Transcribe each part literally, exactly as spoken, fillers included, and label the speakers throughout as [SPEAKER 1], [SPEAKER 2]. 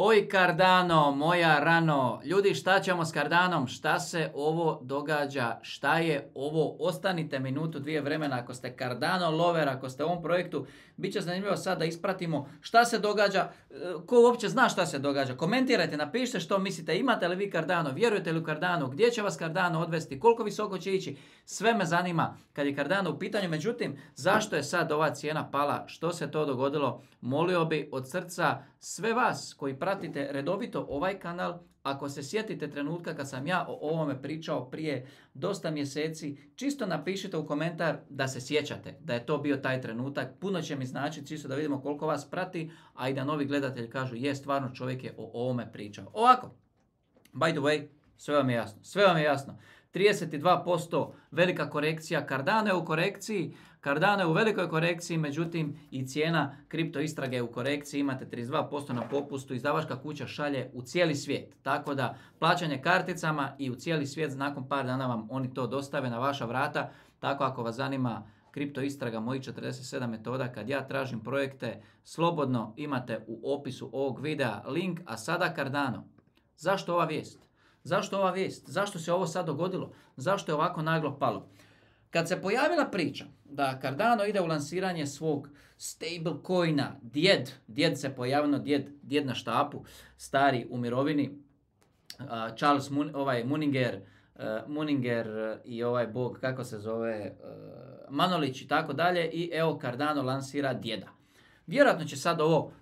[SPEAKER 1] Oj Cardano, moja rano. Ljudi, šta ćemo s Cardanom? Šta se ovo događa? Šta je ovo? Ostanite minutu, dvije vremena. Ako ste Cardano lover, ako ste u ovom projektu, bit će zanimljivo sad da ispratimo šta se događa. Ko uopće zna šta se događa? Komentirajte, napišite što mislite. Imate li vi Cardano? Vjerujete li u Cardano? Gdje će vas Cardano odvesti? Koliko visoko će ići? Sve me zanima kad je Cardano u pitanju. Međutim, zašto je sad ova cijena pala? Što se to dogodilo? Molio bi od srca sve vas koji pratite redovito ovaj kanal, ako se sjetite trenutka kad sam ja o ovome pričao prije dosta mjeseci, čisto napišite u komentar da se sjećate da je to bio taj trenutak. Puno će mi značiti, čisto da vidimo koliko vas prati, a i da novi gledatelji kažu je, stvarno čovjek je o ovome pričao. Ovako, by the way, sve vam je jasno, sve vam je jasno. trideset dva posto velika korekcija, Cardano je u korekciji, Cardano je u velikoj korekciji, međutim i cijena kripto istrage je u korekciji, imate trideset dva posto na popustu, izdavačka kuća šalje u cijeli svijet. Tako da plaćanje karticama i u cijeli svijet, nakon par dana vam oni to dostave na vaša vrata. Tako ako vas zanima kripto istraga, mojih četrdeset sedam metoda, kad ja tražim projekte, slobodno imate u opisu ovog videa link. A sada Cardano. Zašto ova vijest? Zašto ova vijest? Zašto se ovo sad dogodilo? Zašto je ovako naglo palo? Kad se pojavila priča da Cardano ide u lansiranje svog stablecoina, djed, djed se pojavio, djed, djed na štapu, stari u mirovini, uh, Charles Mun, ovaj Muninger, uh, Muninger i ovaj bog, kako se zove, uh, Manolić i tako dalje, i evo Cardano lansira djeda. Vjerojatno će sad ovo,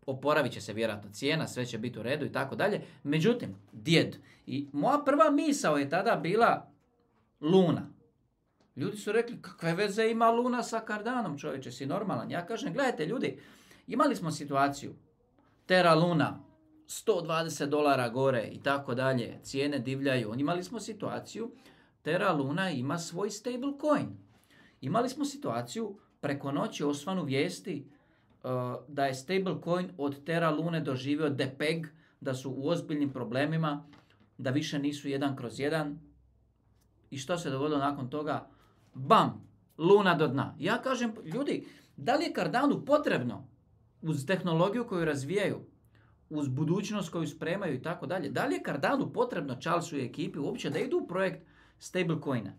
[SPEAKER 1] oporavit će se vjerojatno cijena, sve će biti u redu i tako dalje. Međutim, djed. I moja prva misao je tada bila Luna. Ljudi su rekli, kakve veze ima Luna sa Cardanom, čovječe, si normalan. Ja kažem, gledajte ljudi, imali smo situaciju, Terra Luna, sto dvadeset dolara gore i tako dalje, cijene divljaju. Imali smo situaciju, Terra Luna ima svoj stablecoin. Imali smo situaciju, preko noći osvanu vijesti, uh, da je stablecoin od Terra Lune doživio depeg, da su u ozbiljnim problemima, da više nisu jedan kroz jedan. I što se dogodilo nakon toga? Bam! Luna do dna. Ja kažem, ljudi, da li je Cardano potrebno uz tehnologiju koju razvijaju, uz budućnost koju spremaju i tako dalje, da li je Cardano potrebno Charlesu i ekipi uopće da idu u projekt stablecoina?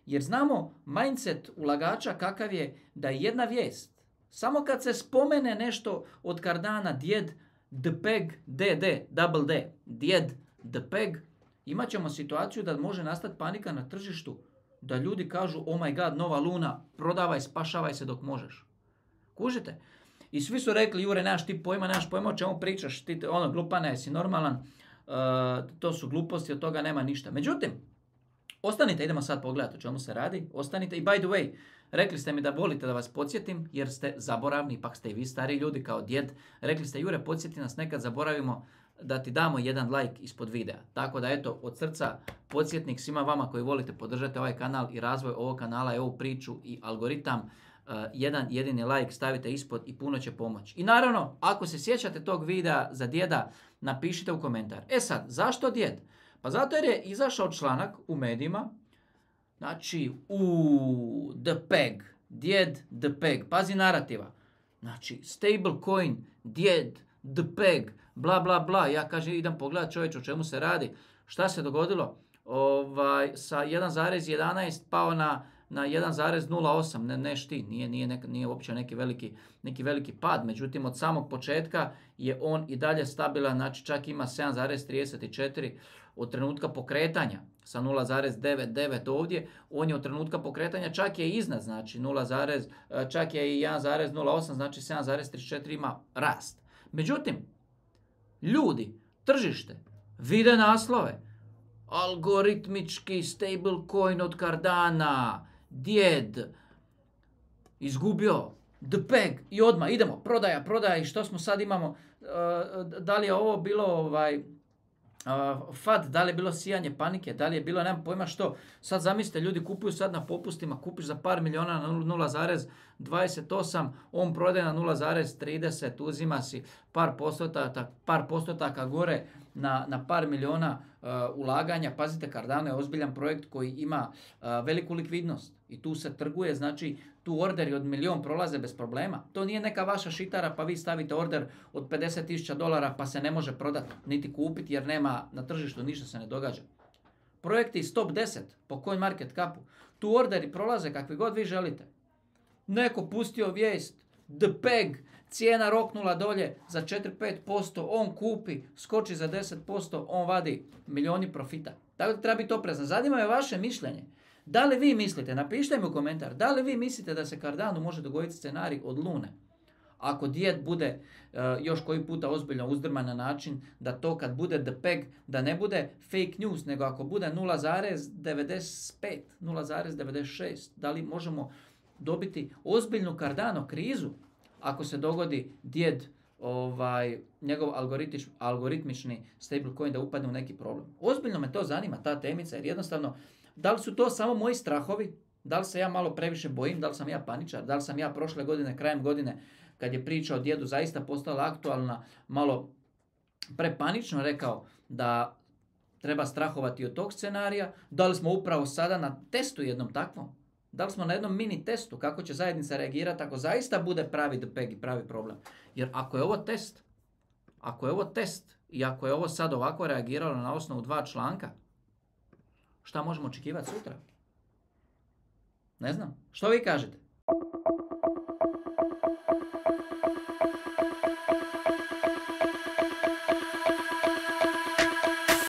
[SPEAKER 1] Jer znamo mindset ulagača kakav je, da je jedna vijest, samo kad se spomene nešto od Cardana, djed, depeg, D D, double D, djed, depeg, imat ćemo situaciju da može nastati panika na tržištu, da ljudi kažu, oh my god, nova Luna, prodavaj, spašavaj se dok možeš. Kužite? I svi su rekli, Jure, nemaš ti pojma, nemaš pojma o čemu pričaš, ti ono, glupane, jesi normalan, uh, to su gluposti, od toga nema ništa. Međutim, ostanite, idemo sad pogledati o čemu se radi, ostanite. I by the way, rekli ste mi da volite da vas podsjetim, jer ste zaboravni, ipak ste i vi stari ljudi kao djed. Rekli ste, Jure, podsjeti nas, nekad zaboravimo da ti damo jedan like ispod videa. Tako da eto, od srca podsjetnik svima vama koji volite podržati ovaj kanal i razvoj ovog kanala i ovu priču i algoritam, uh, jedan jedini like stavite ispod i puno će pomoći. I naravno, ako se sjećate tog videa za djeda, napišite u komentar. E sad, zašto djed? Pa zato jer je izašao članak u medijima, znači u depeg, djed, depeg, pazi narativa. Znači, stablecoin, djed, depeg, bla bla bla. Ja kažem, idem pogledat, čovječ, o čemu se radi, šta se dogodilo. Ovaj, sa jedan zarez jedanaest pao na, na jedan zarez nula osam, ne, ne šti, nije, nije, nek, nije uopće neki veliki, neki veliki pad. Međutim, od samog početka je on i dalje stabilan, znači čak ima sedam zarez trideset četiri od trenutka pokretanja sa nula zarez devedeset devet ovdje, on je od trenutka pokretanja čak je iznad, znači nula, čak je i jedan zarez nula osam, znači sedam zarez trideset četiri ima rast. Međutim, ljudi, tržište, vide naslove, algoritmički stablecoin od Cardana, djed, izgubio, depeg i odmah idemo, prodaja, prodaja i što smo sad imamo, uh, da li je ovo bilo ovaj, uh, fad, da li je bilo sijanje panike, da li je bilo, nemam pojma što, sad zamislite, ljudi kupuju sad na popustima, kupiš za par milijuna na nula zarez dvadeset osam, on prodaje na nula zarez trideset, uzima si par postotaka, par postotaka gore, na, na par miliona uh, ulaganja. Pazite, Cardano je ozbiljan projekt koji ima uh, veliku likvidnost i tu se trguje, znači tu orderi od milion prolaze bez problema. To nije neka vaša šitara pa vi stavite order od pedeset tisuća dolara pa se ne može prodati niti kupiti jer nema na tržištu, ništa se ne događa. Projekti iz top deset po CoinMarketCapu, tu orderi prolaze kakvi god vi želite. Neko pustio vijest, The Peg, cijena roknula dolje za četiri do pet posto, on kupi, skoči za deset posto, on vadi milijoni profita. Tako da treba biti oprezan. Zanima me vaše mišljenje. Da li vi mislite, napišite mi u komentar, da li vi mislite da se Cardano može dogoditi scenarij od Lune? Ako djed bude uh, još koji puta ozbiljno uzdrman na način da to kad bude The Peg, da ne bude fake news, nego ako bude nula zarez devedeset pet, nula zarez devedeset šest, da li možemo dobiti ozbiljnu Cardano krizu ako se dogodi djed ovaj, njegov algoritmič, algoritmični stablecoin da upadne u neki problem. Ozbiljno me to zanima, ta temica, jer jednostavno, da li su to samo moji strahovi, da li se ja malo previše bojim, da li sam ja paničar, da li sam ja prošle godine, krajem godine, kad je priča o djedu zaista postala aktualna, malo prepanično rekao da treba strahovati od tog scenarija, da li smo upravo sada na testu jednom takvom, da li smo na jednom mini testu, kako će zajednica reagirati ako zaista bude pravi The Peg i pravi problem. Jer ako je ovo test, ako je ovo test i ako je ovo sad ovako reagiralo na osnovu dva članka, šta možemo očekivati sutra? Ne znam. Što vi kažete?